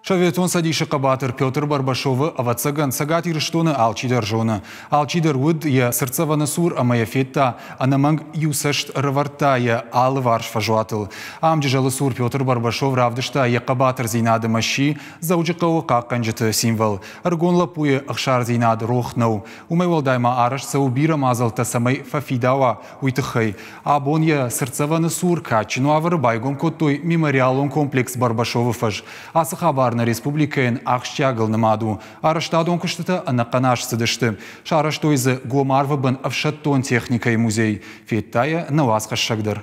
Советон Цӕдисы хъӕбатыр Петр Барбашовы, ӕвӕццӕгӕн, Цӕгат Ирыстоны алчидӕр зоны. Алчидӕр уыд йӕ цыртдзӕвӕны цур ӕмӕ йӕ федта, ӕнӕмӕнг иу цӕст ӕрӕвӕрдта йӕ алыварс фӕзуатыл. Ам Джызӕлы цур Петр Барбашов равдыста йӕ хъӕбатырдзинад ӕмӕ сси Дзӕуджыхъӕуы хъахъхъӕнджыты символ. Ӕрыгон лӕппуйы ӕхсардзинад рох нӕу. Уымӕй уӕлдай ма арӕзт цӕуы бирӕ мадзӕлттӕ, цӕмӕй фӕфидауа, уый тыххӕй. Абон йӕ цыртдзӕвӕны цур кадджын уавӕры байгом кодтой мемориалон комплекс Барбашовы фӕз. Ацы хабар нӕ республикӕйӕн ахсджиагыл нымад у. Арӕзтадон куыстытӕ ӕнӕхъӕн аз цыдысты. Сарӕзтой дзы гом арвы бын ӕфсӕддон техникӕйы музей. Федта йӕ нӕ уацхӕссӕг дӕр.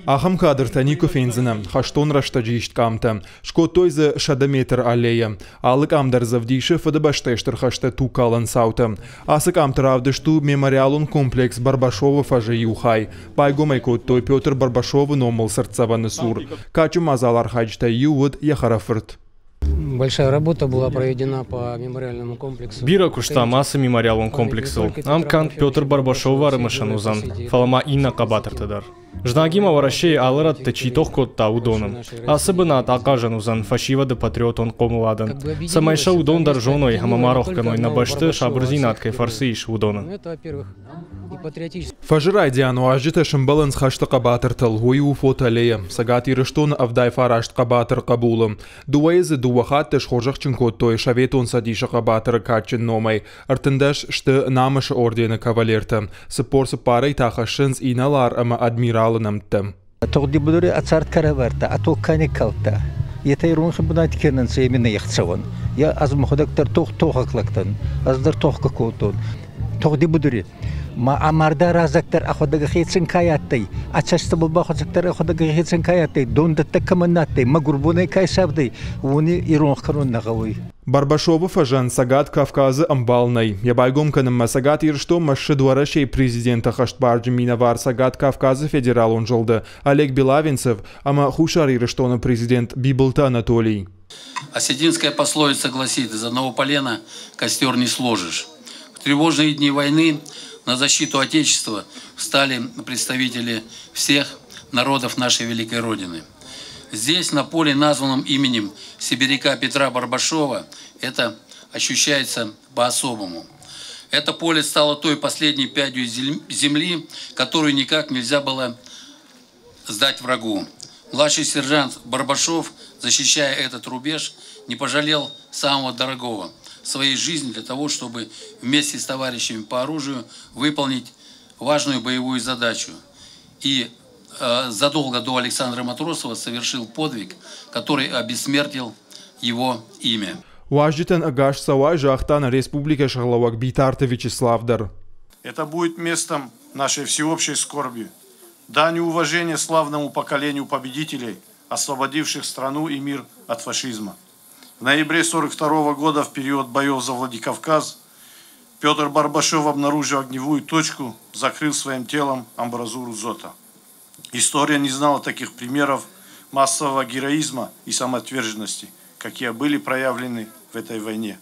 Ахӕм кадртӕ никуы фендзынӕ хӕстон рӕстӕджы ист къамтӕ. Скодтой дзы 100 метр аллейӕ. Алы къам дӕр дзы ӕвдисы Фыдыбӕстӕйы Стыр хӕсты тугкалӕн цаутӕ. Ацы къамты равдыст у мемориалон комплекс Барбашовы фӕзы иу хай. Байгом ӕй кодтой Петр Барбашовы номыл цыртдзӕвӕны цур. Кадджын мадзалы архайджытӕй иу уыд йӕ хӕрӕфырт. Большая работа была проведена по мемориальному комплексу. Бирӕ куыстам ацы мемориалон комплексыл. Ам канд Петр Барбашовы ӕрымысӕн уыдзӕн, фӕлӕ ма иннӕ хъӕбатырты дӕр. Знагимӕ Уӕрӕсейы алы рӕтты чи тох кодта, уыдоны. Ацы бынат ахъазӕн уыдзӕн фӕсивӕды патриотон хъомыладӕн, цӕмӕй сӕ уыдон дӕр зоной ӕмӕ ма рох кӕной нӕ бӕсты сабырдзинад кӕй фӕрцы ис, уыдоны. Фӕзы райдиан уазджытӕ сӕмбӕлынц хӕсты хъӕбатыртыл. Уый у фотоаллея. Цӕгат Ирыстоны 79 хъӕбатыр хъӕбулы. Дыууӕйы дзы дыууӕ хатты схорзӕхджын кодтой Советон Цӕдисы хъӕбатыры кадджын номӕй. 13 сты Намысы ордены кавалертӕ. 44-ӕй та хӕссынц инӕлар ӕмӕ адмиралы нӕмттӕ. Тугъди будури ӕ цард ка равардта, ӕ тог ка никкалдта, етӕ иронхи бунати ке нӕ нцӕ, е мин ӕхцӕуӕн. Е ӕз мӕхуӕдӕг дӕр тохӕг лӕг дӕн, ӕз дӕр тохгӕ кодтон. Тугъди будури ма ӕ мардӕ раззагдӕр ӕхуӕдӕг хецӕн ка адтӕй, ӕ цӕстӕбӕл бахуӕцӕгдӕр ӕхуӕдӕг хецӕн ка адтӕй, дондӕттӕг кӕмӕн на адтӕй, мӕгурбонӕй ка исавдӕй, уони иронх кӕнун нӕ гъӕуй. Барбашовы фӕзӕн Цӕгат Кавказы ӕмбал нӕй. Йӕ байгом кӕнынмӕ Цӕгат Ирыстонмӕ ссыд Уӕрӕсейы президенты хӕстбарджын минӕвар Цӕгат Кавказы федералон зылды Олег Белавенцев ӕмӕ Хуссар Ирыстоны президент Бибылты Анатолий. Осетинская пословица гласит, из одного полена костер не сложишь. В тревожные дни войны на защиту Отечества встали представители всех народов нашей великой Родины. Здесь, на поле, названном именем сибиряка Петра Барбашова, это ощущается по-особому. Это поле стало той последней пядью земли, которую никак нельзя было сдать врагу. Младший сержант Барбашов, защищая этот рубеж, не пожалел самого дорогого – своей жизни для того, чтобы вместе с товарищами по оружию выполнить важную боевую задачу. И задолго до Александра Матросова совершил подвиг, который обессмертил его имя. Уазджытӕн ӕгас цӕуай загъта нӕ республикӕйы сӕргълӕууӕг Битарты Вячеслав дӕр. Это будет местом нашей всеобщей скорби, дань уважения славному поколению победителей, освободивших страну и мир от фашизма. В ноябре 1942 года, в период боев за Владикавказ, Петр Барбашов, обнаружив огневую точку, закрыл своим телом амбразуру ДЗОТа. История не знала таких примеров массового героизма и самоотверженности, какие были проявлены в этой войне.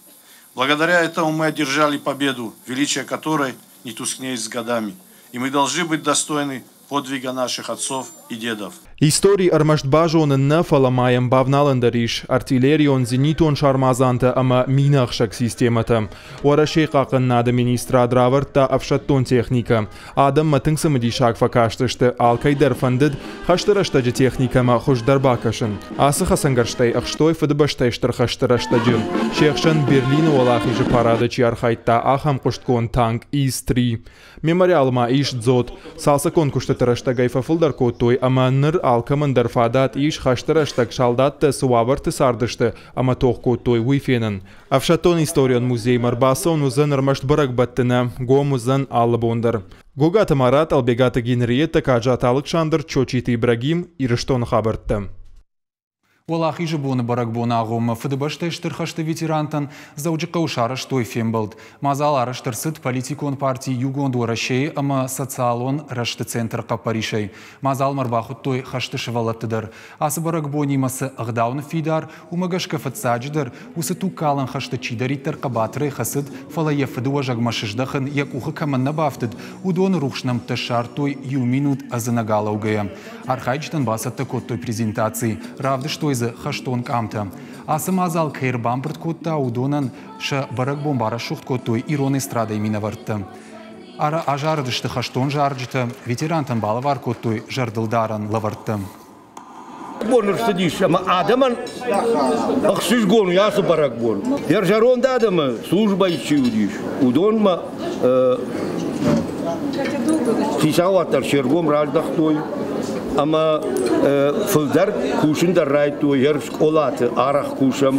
Благодаря этому мы одержали победу, величие которой не тускнеет с годами. И мы должны быть достойны подвига наших отцов и дедов. Истори ӕрмӕст базонын нӕ, фӕлӕ ма йӕм бавналӕн дӕр ис артиллерион, зенитон сармадзантӕ ӕмӕ минӕхсӕг системӕтӕ. Уӕрӕсейы хъахъхъӕнынады министрад равӕрдта ӕфсӕддон техникӕ. Адӕммӕ тынг цымыдисаг фӕкастысты, алкӕй дӕр фӕндыд хӕсты рӕстӕджы техникӕмӕ хуыздӕр бакӕсын. Ацы хӕцӕнгӕрзтӕй ӕхстой Фыдыбӕстӕйы Стыр хӕсты рӕстӕджы. Се хсӕн Берлины Уӕлахизы парады чи архайдта, ахӕм хъуыстгонд танк ИС-3. Мемориалы ма ис дзот. Цалцӕггонд куыстыты рӕстӕгӕй фӕфылдӕр кодтой ӕмӕ ныр алкӕмӕн дӕр фадат ис хӕсты рӕстӕг салдаттӕ цы уавӕрты цардысты ӕмӕ тох кодтой, уый фенын. Ӕфсӕддон историон музеймӕ ӕрбацӕуын уыдзӕн ӕрмӕст бӕрӕгбӕтты нӕ, гом уыдзӕн алы бон дӕр. Гогаты Марат, Албегаты Генриетта, Каджаты Алыксандр, Чочиты Ибрагим, Ирыстоны хабӕрттӕ. Уӕлахизы боны бӕрӕгбоны агъоммӕ Фыдыбӕстӕйы Стыр хӕсты ветерантӕн Дзӕуджыхъӕуы сарӕзтой фембӕлд. Мадзал арӕзт ӕрцыд политикон парти Иугонд Уӕрӕсейы ӕмӕ социалон рӕзты центры хъӕппӕрисӕй. Мадзалмӕ ӕрбахуыдтой хӕсты сывӕллӕтты дӕр. Ацы бӕрӕгбонимӕ цы ӕгъдау ныффидар, уымӕ гӕсгӕ фыццаджыдӕр уыцы тугкалӕн хӕсты чидӕриддӕр хъӕбатырӕй хӕцыд, фӕлӕ йӕ фыдыуӕзӕгмӕ сыздӕхын йӕ къухы кӕмӕн нӕ бафтыд, уыдоны рухс нӕмттӕ ссардтой иу минут ӕдзынӕг алӕугӕйӕ. Архайджытӕн бацӕттӕ кодтой презентаци, равдыстой Систой дзы хӕстон къамтӕ. Ацы мадзал кӕй ӕрбамбырд кодта, уыдонӕн сӕ бӕрӕгбон барӕсугъд кодтой ирон эстрадӕйы минӕвӕрттӕ. Азарыдысты хӕстон зарджытӕ, ветерантӕн балӕвар кодтой зӕрдылдарӕн лӕвӕрттӕ. Бон ӕрцыдис ӕмӕ адӕмӕн ӕхсызгон у ацы бӕрӕгбон. Йӕ зӕронд адӕмы службӕйы чи уыдис, уыдонмӕ хицауад дӕр се ргом раздӕхтой ӕмӕ фылдӕр кусын дӕр райдыдтой, скъолаты арӕх кусӕм.